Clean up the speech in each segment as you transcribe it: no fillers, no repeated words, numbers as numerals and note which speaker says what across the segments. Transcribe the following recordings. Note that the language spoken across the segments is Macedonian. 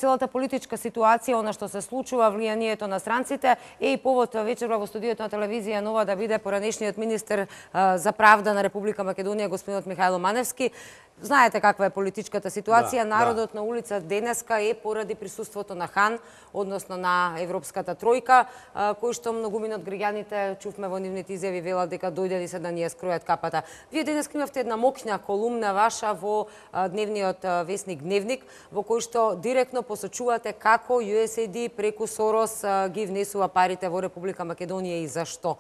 Speaker 1: целата политичка ситуација, она што се случува, влијанието на странците, е и повод вечерва во студиото на телевизија Нова да биде поранешниот министер за правда на Република Македонија, господинот Михајло Маневски. Знаете каква е политичката ситуација. Народот на улица денеска е поради присуството на хан, односно на Европската тројка, кој што многумина од граѓаните, чувме во нивните изјави, велат дека дојдени се да ни ја скројат капата. Вие денеска имавте една моќна колумна ваша во дневниот весник Дневник, во кој што директно посочувате како USAID преку Сорос ги внесува парите во Република Македонија и зашто.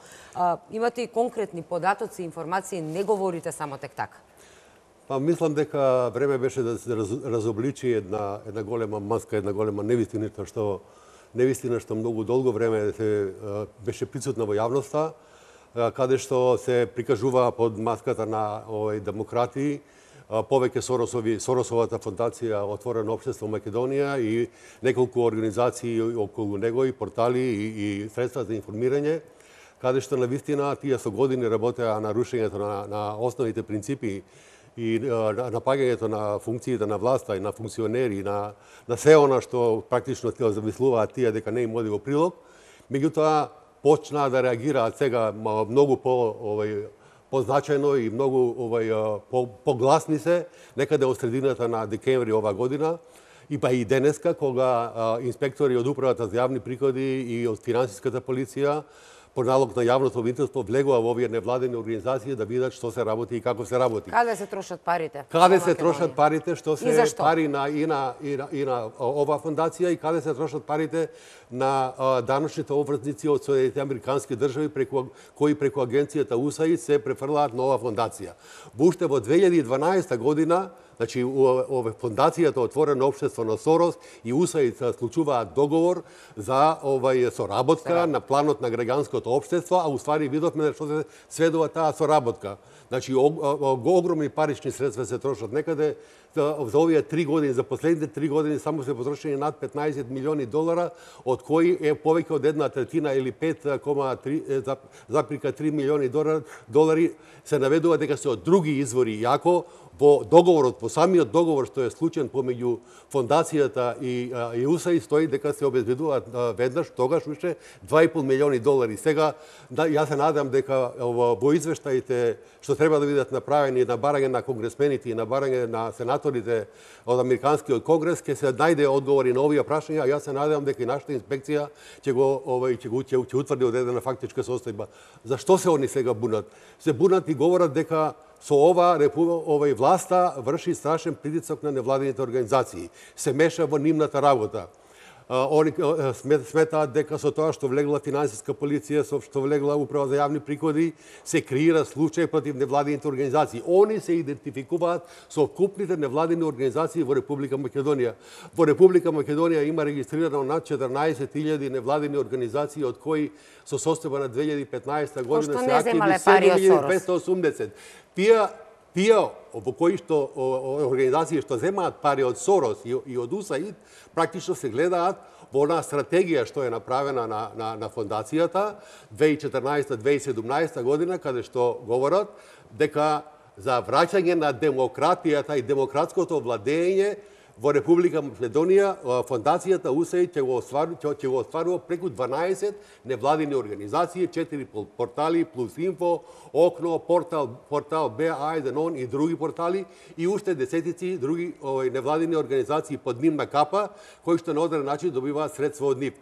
Speaker 1: Имате и конкретни податоци, информации, не говорите само тек така.
Speaker 2: Па мислам дека време беше да се разобличи една голема маска, една голема невистина што многу долго време беше присутна во јавноста, каде што се прикажува под маската на демократи, повеќе Соросовата фондација Отворено општество Македонија и неколку организации околу него и портали и средства за информирање, каде што навистина тие со години работеа на рушењето на основните принципи и напагањето на функциите на власта и на функционери, на се она што практично замислуваат тие дека не им оди во прилог. Меѓутоа, почнаа да реагираат сега многу позначајно и многу погласни се, некаде од средината на декември ова година, и па и денеска, кога инспектори од Управата за јавни приходи и од финансиската полиција по налог на јавното обвинителство влегува во овие невладени организации да видат што се работи и како се работи.
Speaker 1: Каде се трошат парите?
Speaker 2: Каде се трошат парите, што се пари на ова фондација и каде се трошат парите на даночните обврзници од Соединетите американски држави кои преку агенцијата USAID се префрлаат на ова фондација. Уште во 2012 година, значи фондацијата Отворено општество на Сорос и USAID склучуваат договор за соработка на планот на граѓанското општество, а уствари видовме што се сведува таа соработка. Значи огромни парични средства се трошат некаде за овие 3 години, за последните 3 години само се потрошени над 15 милиони долара, од кои е повеќе од 1/3 или 5,3 милиони долари се наведува дека се од други извори, иако во договорот, во самиот договор што е склучен помеѓу фондацијата и USAID стои дека се обезбедуваат веднаш тогаш уште 2,5 милиони долари. Сега јас се надам дека во извештаите што треба да бидат направени на барање на конгресмените и на барање на сенаторите од Американскиот конгрес ќе се најде одговори на овие прашања, а јас се надам дека и нашата инспекција ќе утврди одредена фактичка состојба. Зашто се они сега бунат? Се бунат и говорат дека со ова власта врши страшен притисок на невладините организации, се меша во нивната работа. Они сметаат дека со тоа што влегла финансиска полиција, со што влегла Управа за јавни приходи, се креира случај против невладините организации. Они се идентификуваат со вкупните невладини организации во Република Македонија. Во Република Македонија има регистрирано над 14.000 невладини организации, од кои со состојба на 2015 година се активни 7.280. Тие во кои што организации што земаат пари од Сорос и од USAID, практично се гледаат во онаа стратегија што е направена на фондацијата 2014-2017 година, каде што говорат дека за враќање на демократијата и демократското владење во Република Македонија, фондацијата USAID ќе го остварува преку 12 невладини организации, 4 портали, Плюс Инфо, Окно, портал БА, ОН и други портали и уште десетици други невладини организации под нивна капа, кои што на одреден начин добиваат средства од нив.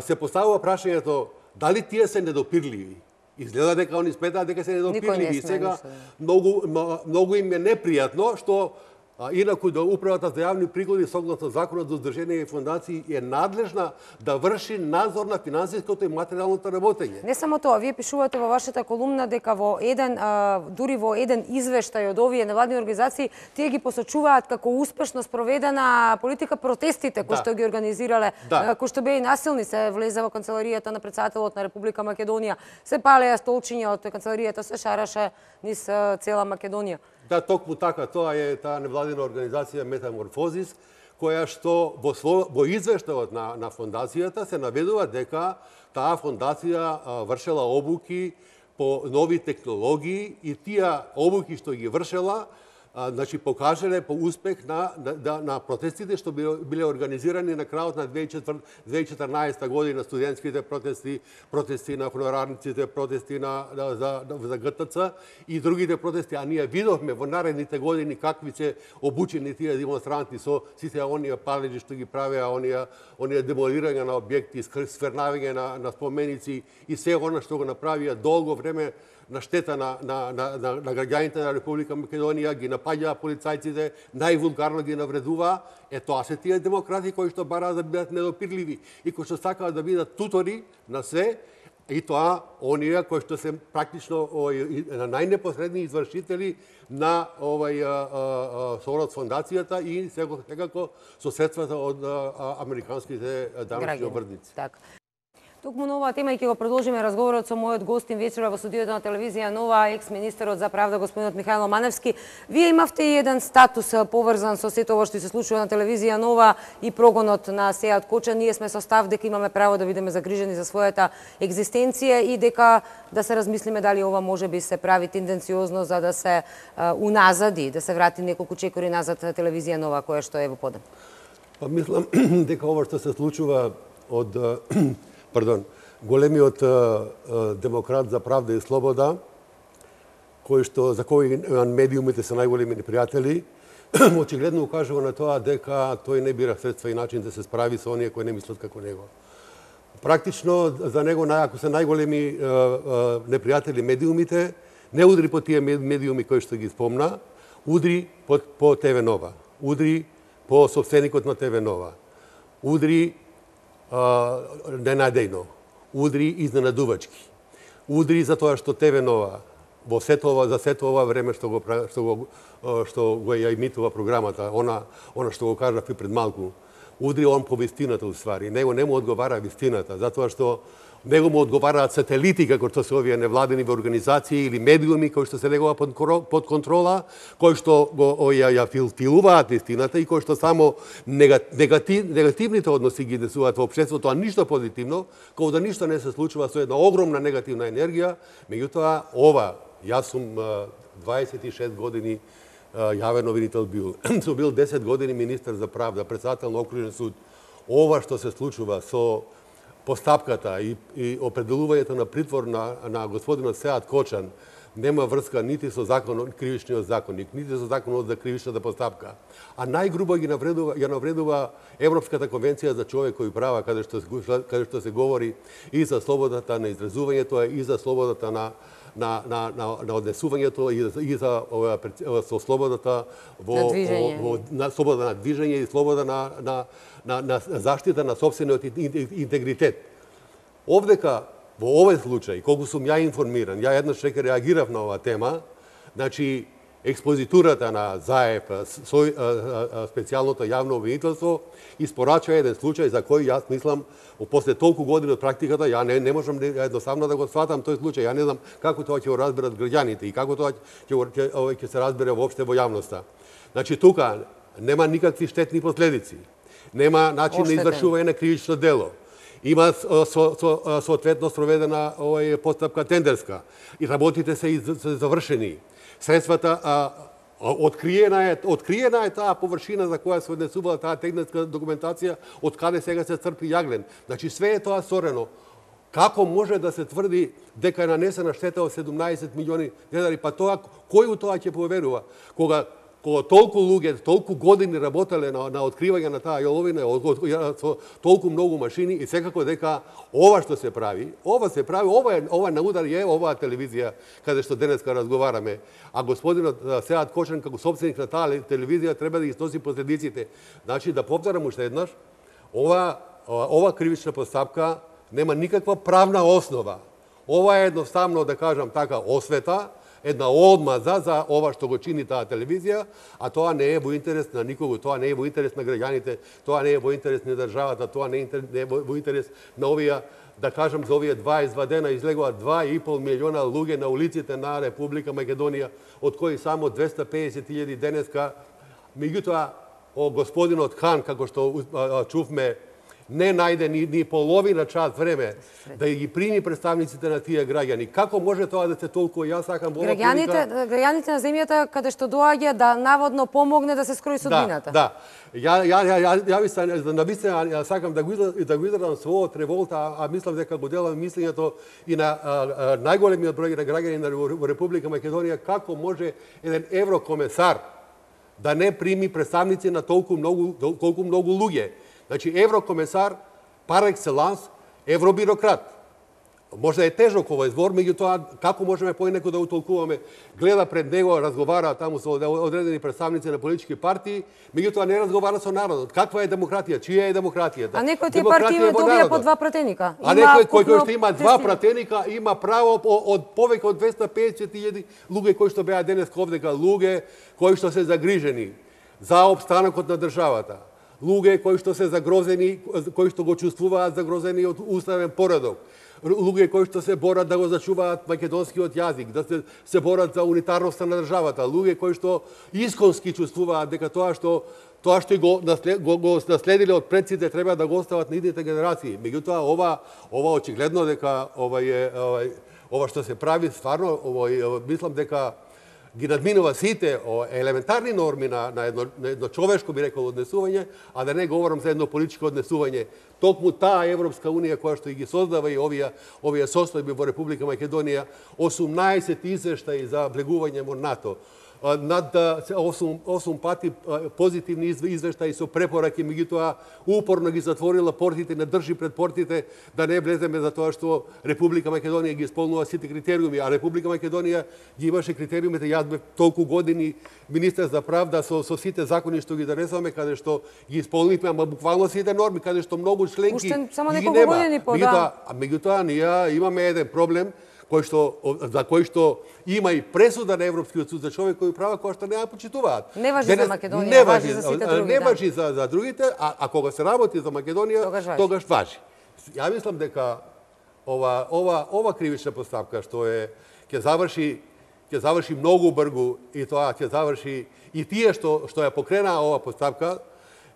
Speaker 2: Се поставува прашањето дали тие се недопирливи. Изгледа дека они сметаат дека се недопирливи и сега многу им е непријатно што инаку да Управата за јавни приходи согласно Законот за удржение и фондации е надлежна да врши надзор на финансиското и материјалното работење.
Speaker 1: Не само тоа, вие пишувате во вашата колумна дека дури во еден извештај од овие невладини организации тие ги посочуваат како успешно спроведена политика протестите кои што ги организирале, кои што беа насилни, се влезе во канцеларијата на претседателот на Република Македонија, се палеа столчиња од канцеларијата, се шараше низ цела Македонија.
Speaker 2: Да, токму така, тоа е таа невладина организација Метаморфозис, која што во извештајот на фондацијата се наведува дека таа фондација вршела обуки по нови технологии и тие обуки што ги вршела значи покажале по успех на протестите што биле организирани на крајот на 2014 година, студентските протести на хонорарниците, протести за ГТЦ и другите протести, а ние видовме во наредните години какви се обучени тие демонстранти со сите оние палеџи што ги правеа, оние демолирање на објекти, свернавање на споменици и се она што го направија долго време на штета на граѓаните на Република Македонија, ги напаѓаа полицајците, највулгарно ги навредуваа. Тоа се тие демократи кои што бараат да бидат недопирливи и кои што сакаат да бидат тутори на се, и тоа оние кои што се практично најнепосредни извршители на со фондацијата и секако со средствата од американските данъчни обрдници.
Speaker 1: Токму на оваа тема и ќе го продолжиме разговорот со мојот гостин вечера во студиото на телевизија Нова, екс-министерот за правда господинот Михајло Маневски. Вие имавте и еден статус поврзан со сето ова што се случува на телевизија Нова и прогонот на Сеат Кочан. Ние сме со став дека имаме право да бидеме загрижени за својата екзистенција и дека да се размислиме дали ова може би се прави тенденциозно за да се уназади, да се врати неколку чекори назад телевизија Нова која што е во подем.
Speaker 2: Мислам дека ова што се случува од големиот демократ за правда и слобода, за кој медиумите се најголеми непријатели, очигледно укажува на тоа дека тој не бира средства и начин да се справи со оние кои не мислат како него. Практично за него, ако се најголеми непријатели медиумите, не удри по тие медиуми кои што ги спомна, удри по ТВ Нова, удри по собственикот на ТВ Нова, удри ненадејно, удри изненадувачки, удри за тоа што ТВ Нова за сето ова време што го ја имитува програмата, она што го кажав и пред малку, удри он по вистината уствари. Него не му одговара вистината, затоа што него му одговараат сателити, како што се овие невладени организации или медиуми кои што се негова под контрола, кои што ја филуваат вистината и кои што само негативните односи ги десуваат во општеството, а ништо позитивно, како да ништо не се случува со една огромна негативна енергија. Меѓутоа, јас сум 26 години јавен обвинител бил. Сум бил 10 години министер за правда, председател на окружен суд. Ова што се случува со постапката и определувањето на притвор на господинот Сеат Кочан нема врска нити со кривичниот законник, нити со законот за кривичната постапка. А најгрубо ја навредува Европската конвенција за човекови права, каде што се говори и за слободата на изразувањето, и за слободата на однесувањето, и за слободата на слобода на движење и слобода на заштита на сопствениот интегритет. Овдека, во овој случај, колку сум ја информиран, ја еднаш реагирав на оваа тема, значи, експозитурата на ЗАЕП, специјалното јавно обвинителство, испорачува еден случај за кој јас мислам, после толку години од практиката, ја не можам едноставно да го сватам тој случај. Ја не знам како тоа ќе го разберат граѓаните и како тоа ќе се разбере воопште во јавноста. Значи, тука нема никакви штетни последици. Нема начин на извршување на кривично дело. Има соодветно спроведена постапка тендерска и работите се завршени. Средствата откриена е таа површина за која се однесувала таа техничка документација, од каде сега се црпи јаглен. Значи све е тоа сторено. Како може да се тврди дека е нанесена штета од 17 милиони денари, па тоа кој у тоа ќе поверува? Кога толку луѓе, толку години работеле на откривање на таа јоловина, со толку многу машини и секако дека ова што се прави, ова на удар е оваа телевизија каде што денеска разговараме, а господинот Сеат Кочан како собственик на таа телевизија треба да ги сноси последиците. Значи, да повторам уште еднаш, ова кривична постапка нема никаква правна основа. Ова е едноставно, да кажам така, освета, една одмаза за ова што го чини таа телевизија, а тоа не е во интерес на никого, тоа не е во интерес на граѓаните, тоа не е во интерес на државата, тоа не е во интерес на овие, да кажам, за овие 22 дена излегува 2,5 милиона луѓе на улиците на Република Македонија, од кои само 250.000 денеска. Меѓутоа, господинот Хан, како што чувме, не најде ни половина час време да ги прими представниците на тие граѓани. Како може тоа да се толку? Јас сакам во
Speaker 1: граѓаните на земјата каде што доаѓа да наводно помогне да се скрои судбината.
Speaker 2: Да. Ја сакам да го изразам својот револта, а мислам дека го делам мислењето и на најголемиот број на граѓани во Република Македонија, како може еден еврокомесар да не прими представници на толку многу луѓе. Значи, еврокомесар, пар екселанс, евробирократ. Може да е тежок овој збор, меѓутоа, како можеме поинеко да утолкуваме? Гледа пред него, разговара таму со одредени представници на политички партии, меѓутоа не разговара со народот. Каква е демократија? Чија е демократијата?
Speaker 1: А некои тие партии добија по 2 пратеника.
Speaker 2: А некој кој што има 2 пратеника, има право од повеќе од 250.000 луѓе кои што беа денес овдека, луѓе кои што се загрижени за опстанокот на државата. Луѓе кои што се загрозени, кои што го чувствуваат загрозени од уставен поредок. Луѓе кои што се борат да го зачуваат македонскиот јазик, да се борат за унитарноста на државата, луѓе кои што исконски чувствуваат дека тоа што го наследиле од предците треба да го остават на идните генерации. Меѓутоа ова очигледно дека ова што се прави стварно мислам дека ги надминува сите елементарни норми на едно човешко, би рекол, однесување, а да не говорам за едно политичко однесување. Токму таа Европска Унија која што ги создава и овие состојби во Република Македонија, 18 извештаи за влегување во НАТО, над 8 пати позитивни извештаи со препораки, меѓутоа упорно ги затворила портите, не држи пред портите да не влеземе за тоа што Република Македонија ги исполнува сите критериуми, а Република Македонија ги имаше критериумите. Јас бев толку години министер за правда со сите закони што ги донесуваме, каде што ги исполнивме, ама буквално сите норми, каде што многу членки ги нема. Меѓутоа, ние имаме еден проблем за кој што има и пресуда на Европскиот суд за човекови права, која што не ја почитуваат.
Speaker 1: Не важи за Македонија, важи за сите други.
Speaker 2: Не важи за другите, а кога се работи за Македонија, тогаш важи. Ја мислам дека ова кривична постапка што ќе заврши многу бргу, и тоа ќе заврши и тие што ја покренаа ова постапка,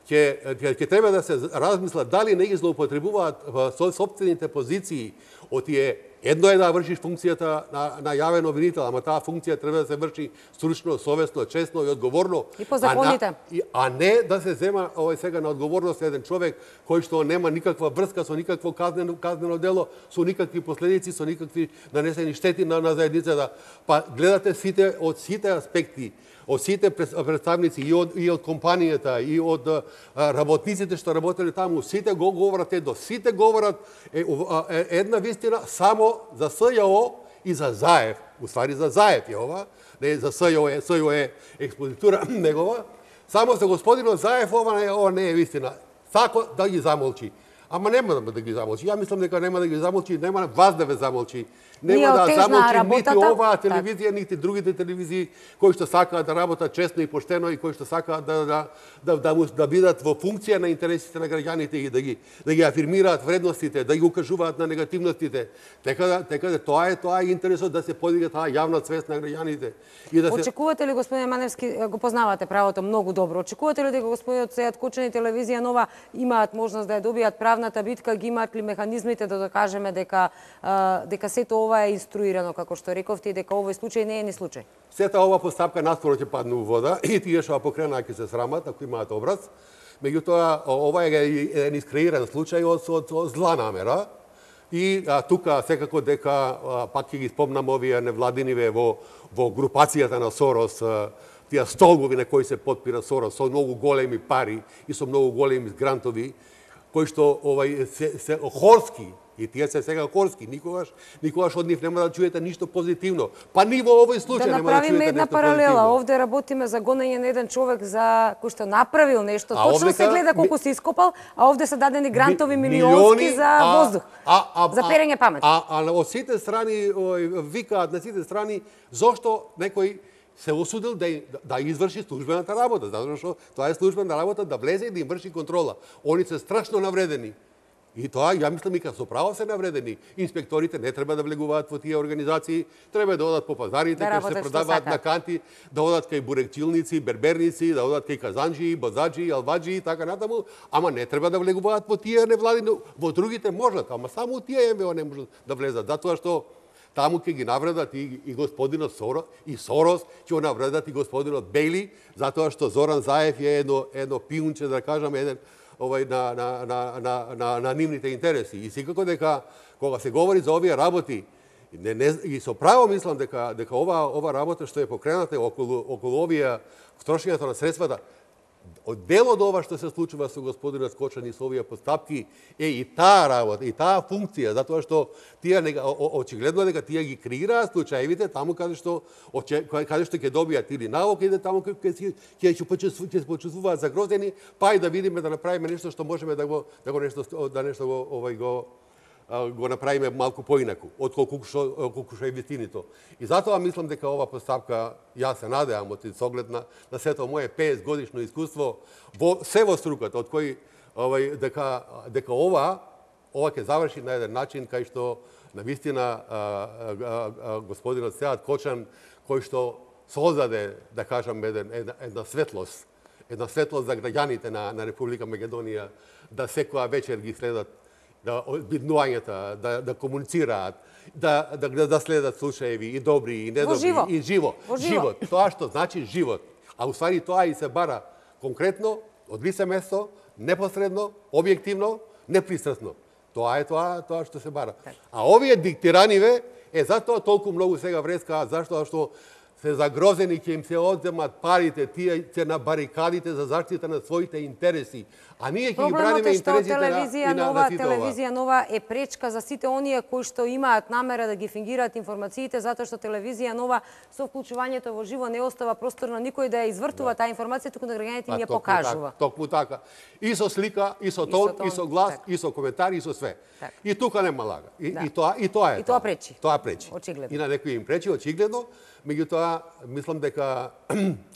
Speaker 2: ќе треба да се размислат дали не ги злоупотребуваат со сопствените позиции од тие. Едно е да вршиш функцијата на јавен обвинител, ама таа функција треба да се врши стручно, совесно, честно и одговорно.
Speaker 1: И по законите.
Speaker 2: А не да се зема сега на одговорност еден човек кој што нема никаква врска со никакво казнено дело, со никакви последици, со никакви нанесени штети на заедницата. Па гледате од сите аспекти, од сите представници и од компанијата, и од работниците што работеле таму, сите го говорат сите говорат една вистина само за СЈО и за Заев. Уствари за Заев е ова, не за СЈО е експозитура негова. Само за господинот Заев ова не е вистина. Сако да ги замолчи. Ама нема да ги замолчи. Ја мислам дека нема да ги замолчи, нема вас да ве замолчи. Нема да замолчи нити оваа телевизија, нити другите телевизии кои што сакаат да работат честно и поштено и кои што сакаат да бидат во функција на интересите на граѓаните и да ги афирмираат вредностите, да ги укажуваат на негативностите. Така да тоа е интересот да се подига таа јавна свест на граѓаните.
Speaker 1: Очекувате ли, господин Маневски, го познавате правото многу добро, очекувате ли дека господинот Сејат Кучан и телевизија Нова имаат можност да ја добијат правната битка, ги имаат ли механизмите да докажеме дека сето ова е инструирано, како што рековте, и дека овој случај не е ни случај?
Speaker 2: Сета ова постапка наскоро ќе падне у вода и тие што ја покренаа ќе се срамат, ако имаат образ. Меѓутоа, ова е еден искреиран случај од зла намера. И тука секако дека пак ќе ги спомнам овие невладиниве во групацијата на Сорос, тие столбови на кои се потпира Сорос со многу големи пари и со многу големи грантови, кои што се хорски, и тие се сега хорски, никогаш од нив нема да чуете ништо позитивно. Па ни во овој случај нема да чуете ништо позитивно.
Speaker 1: Да направиме една паралела. Овде работиме за гонење на еден човек за кој што направил нешто. Точно се гледа колку се ископал, а овде се дадени грантови милионски за воздух. За перење памет.
Speaker 2: А од сите страни викаат на сите страни зошто некој се осудил да изврши службената работа, затоа што тоа е службена работа да влезе и да им врши контрола. Они се страшно навредени. И тоа, ја мислам, и со право се навредени. Инспекторите не треба да влегуваат во тие организации, треба да одат по пазарите, кај се продаваат на канти, да одат кај бурекчилници, берберници, да одат кај казанджи, бозаджи, албаджи и така натаму, ама не треба да влегуваат во тие невладини, во другите можат, ама само тие МВО не можат да влезат, затоа што таму ќе ги навредат и господинот Сорос, ќе го навредат и господинот Бейли, затоа што Зоран Заев е едно пиунче, да кажам, на нивните интереси. И секако дека, кога се говори за овие работи, и со право мислам дека ова работа што е покрената околу овие трошењето на средствата, дел од ова што се случува со господинот Кочан и со овие постапки е и таа работа, и таа функција, затоа што тие очигледно дека тие ги креираат случаевите таму каде што ќе добијат или налог, или таму ќе се почувствуваат загрозени, па и да видиме да направиме нешто што можеме да го направиме малку поинаку, отколку што е вистинито. И затоа мислам дека ова постапка, јас се надевам од соглед на сето моје 50 годишно искуство во струката, од кој дека ова ќе заврши на еден начин кај што навистина господинот Сеат Кочан, кој што создаде, да кажам, една светлост за граѓаните на Република Македонија, да секоја вечер ги следат биднувањата, да комуницираат, да следат случаеви и добри, и недобри, и живот. Тоа што значи живот. А уствари тоа и се бара конкретно, од лице место, непосредно, објективно, непристрасно. Тоа е тоа што се бара. А овие диктираниви затоа толку многу сега врескаат, заштоа што се загрозени, ќе им се одземат парите, тие се на барикадите за заштита на своите интереси. А ние ќе ги браниме интересите на сите ова.
Speaker 1: Телевизија Нова е пречка за сите оние кои што имаат намера да ги фингираат информациите, затоа што Телевизија Нова со вклучувањето во живо не остава простор на никој да ја извртува таа информација, туку на граѓаните им ја покажува.
Speaker 2: Токму така. И со слика, и со тон, и со глас, и со коментари, и со све. И тука нема лага. И тоа е.
Speaker 1: И тоа пречи.
Speaker 2: Тоа пречи.
Speaker 1: Очигледно.
Speaker 2: И на некои им пречи, очигледно. Меѓутоа, мислам дека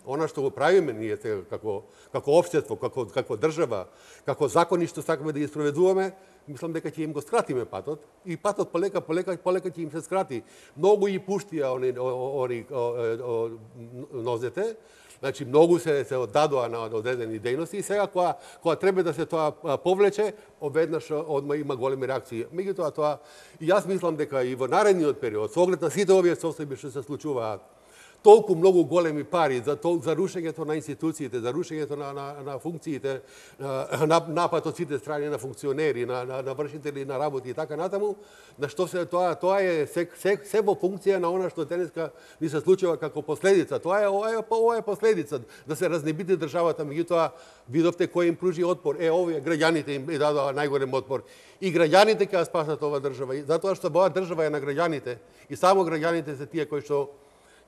Speaker 2: она што го правиме ние сега како општество, како држава, како закони што сакаме да ги спроведуваме, мислам дека ќе им го скратиме патот и патот полека ќе им се скрати. Многу и пуштија они нозете, значи многу се оддадоа на одредени дејности и сега кога треба да се тоа повлече, одеднаш одма има големи реакции. Меѓутоа тоа и јас мислам дека и во наредниот период, со оглед на сите овие состојби што се случуваат, толку многу големи пари за рушењето на институциите, за рушењето на функциите, напад од сите страни на функционери, на вршители на работи и така натаму, на што се тоа е се во функција на она што денеска ни се случува како последица. Ова е последица да се разнебити државата, меѓутоа видовте кој им пружи отпор. Овие граѓаните им дадоа најголем отпор. И граѓаните ќе ја спасат ова држава, затоа што оваа држава е на граѓаните и само граѓаните се тие кои што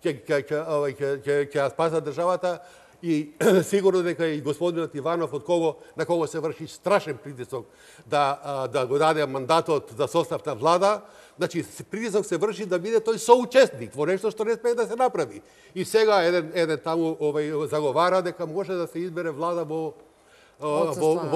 Speaker 2: ќе ја спасат државата и сигурно дека и господинот Иванов на кого се врши страшен притисок да го даде мандатот за состав на влада, значи притисок се врши да биде тој соучесник во нешто што не смее да се направи. И сега еден таму заговара дека може да се избере влада во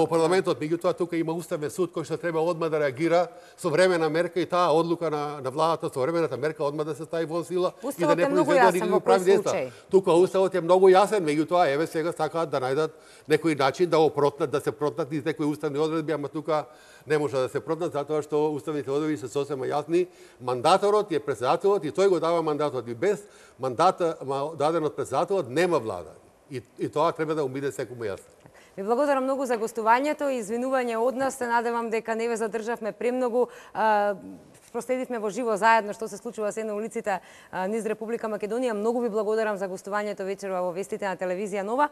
Speaker 2: парламентот, меѓутоа тука има уставен суд кој што треба одма да реагира со времена мерка и таа одлука на владата со времената мерка одма да се стави во сила и да не произведе никакви прави дејства. Тука уставот е многу јасен, меѓутоа еве сега сакаат да најдат некој начин да да се протнат низ некои уставни одредби, ама тука не може да се протнат затоа што уставните одредби се сосема јасни. Мандаторот е претседателот и тој го дава мандатот и без мандата даден од претседателот нема влада. И тоа треба да умине секому јасно.
Speaker 1: Ви благодарам многу за гостувањето и извинување од нас. Се надевам дека не ве задржавме премногу. Проследивме во живо заедно што се случува се на улиците низ Република Македонија. Многу ви благодарам за гостувањето вечерва во вестите на Телевизија Нова.